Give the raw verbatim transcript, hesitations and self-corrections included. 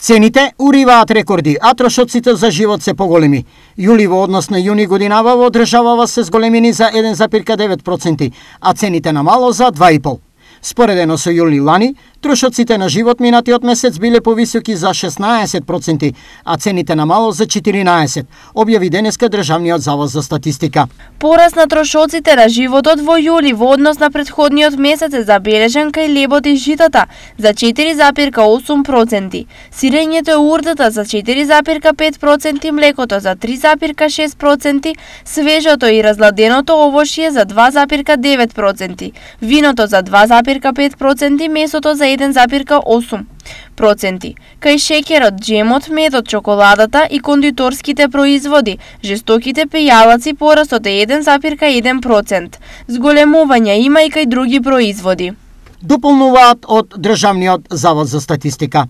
Цените уриваат рекорди, а трошоците за живот се поголеми. Јули во однос на јуни годинава во државава се зголемени за еден зарез девет проценти, а цените на мало за два и пол. Споредено со јули лани, трошоците на живот минатиот месец биле повисоки за шеснаесет проценти, а цените на мало за четиринаесет, објави денеска Државниот завод за статистика. Пораст на трошоците на животот во јули во однос на претходниот месец е забележан кај лебот и житата за четири зарез осум проценти, сирењето и урдата за четири зарез пет проценти, млекото за три зарез шест проценти, свежото и разладеното овошје за два зарез девет проценти, виното за два зарез пет проценти, месото за еден зарез осум проценти. Кај шеќерот, джемот, медот, чоколадата и кондиторските производи, жестоките пејалаци порастот е еден зарез еден процент. Зголемувања има и кај други производи. Дополнуваат од Државниот завод за статистика.